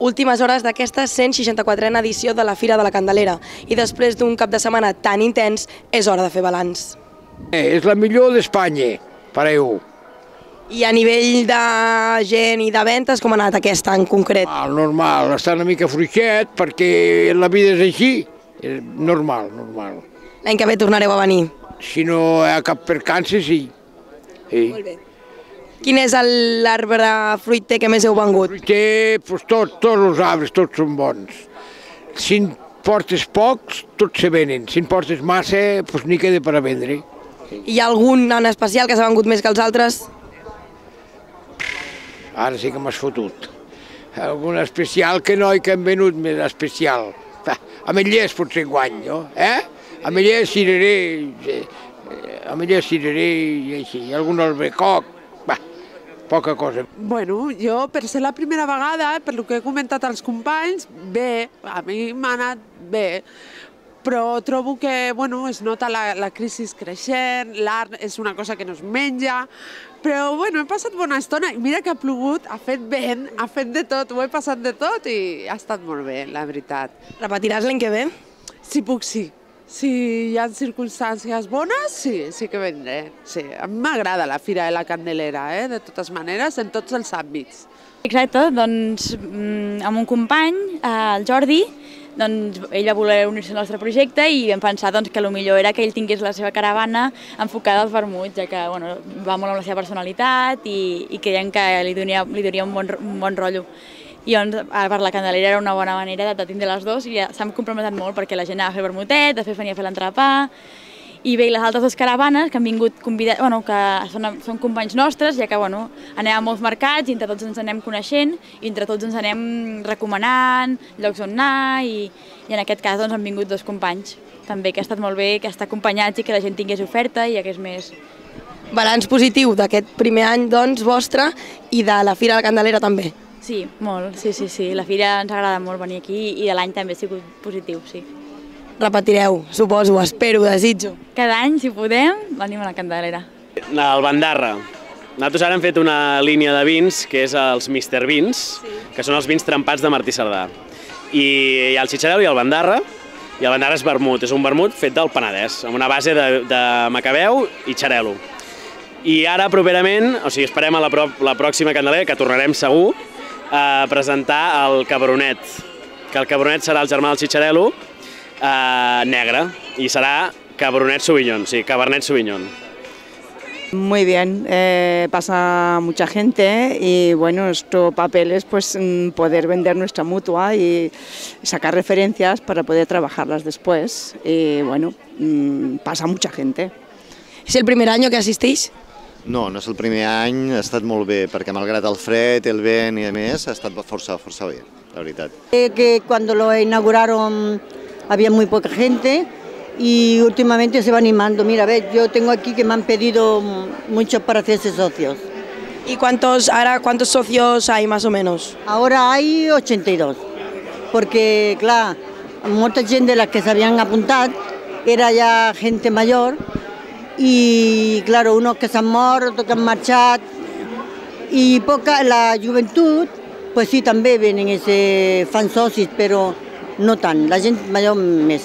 últimes hores d'aquesta 164a edició de la Fira de la Candelera i després d'un cap de setmana tan intens és hora de fer balanç. És la millor d'Espanya, pareu. I a nivell de gent i de ventes, com ha anat aquesta en concret? Normal, està una mica fluixet perquè la vida és així, és normal. L'any que ve tornareu a venir. Si no hi ha cap percança, sí. Molt bé. Quin és l'arbre fruiter que més heu vengut? Fruiter, tots els arbres, tots són bons. Si en portes pocs, tots se venen. Si en portes massa, n'hi queda per a vendre. Hi ha algun en especial que s'ha vengut més que els altres? Ara sí que m'has fotut. Algun especial que no, que han venut més especial. Ametllers potser guany, no? Ametllers, cirerer i així. Algun albecoc, poca cosa. Bueno, jo, per ser la primera vegada, per lo que he comentat als companys, bé, a mi m'ha anat bé, però trobo que, bueno, es nota la crisi creixent, l'art és una cosa que no es menja, però, bueno, he passat bona estona i mira que ha plogut, ha fet vent, ha fet de tot, ho he passat de tot i ha estat molt bé, la veritat. Repetiràs l'any que ve? Si puc, sí. Si hi ha circumstàncies bones, sí que vendré. Sí, a mi m'agrada la Fira de la Candelera, de totes maneres, en tots els àmbits. Exacte, doncs amb un company, el Jordi, doncs ell va voler unir-se al nostre projecte i vam pensar que el millor era que ell tingués la seva caravana enfocada als vermuts, ja que va molt amb la seva personalitat i creiem que li donaria un bon rotllo. I per la Candelera era una bona manera de tindre les dues i s'han comprometat molt perquè la gent anava a fer vermutet, després venia a fer l'entrepà. I bé, les altres dues caravanes que han vingut convidats, que són companys nostres, ja que anem a molts mercats i entre tots ens anem coneixent i entre tots ens anem recomanant llocs on anar i en aquest cas han vingut dos companys. També que ha estat molt bé que estar acompanyats i que la gent tingués oferta i hagués més. Balanç positiu d'aquest primer any vostre i de la Fira de la Candelera també. Sí, molt, sí. La Fira ens agrada molt venir aquí i de l'any també ha sigut positiu, sí. Repetireu, suposo, espero, desitjo. Cada any, si podem, venim a la Candelera. El Bandarra. Nosaltres ara hem fet una línia de vins, que és els Mr. Vins, que són els vins trempats de Martí Cerdà. I hi ha el Xitxarel·lo i el Bandarra, i el Bandarra és vermut, és un vermut fet del Penedès, amb una base de macabeu i xarel·lo. I ara, properament, esperem a la pròxima Candelera, que tornarem segur, a presentar el Cabernet, que el Cabernet serà el germà del Xitxarel·lo, negre, y será Cabernet Sauvignon, sí, Cabernet Sauvignon. Muy bien, pasa mucha gente y bueno, nuestro papel es poder vender nuestra mutua y sacar referencias para poder trabajarlas después y bueno, pasa mucha gente. ¿Es el primer año que asistís? No, no és el primer any, ha estat molt bé, perquè malgrat el fred, el vent i a més, ha estat força bé, la veritat. Que cuando lo inauguraron había muy poca gente y últimamente se va animando. Mira, ves, yo tengo aquí que me han pedido muchos para hacerse socios. ¿Y cuántos socios hay más o menos? Ahora hay 82, porque, clar, molta gent de las que s'havien apuntat era ja gente mayor i, claro, unos que s'han mort, otros que han marxat i la joventut, pues sí, també venen, fan socis, però no tant, la gent major més.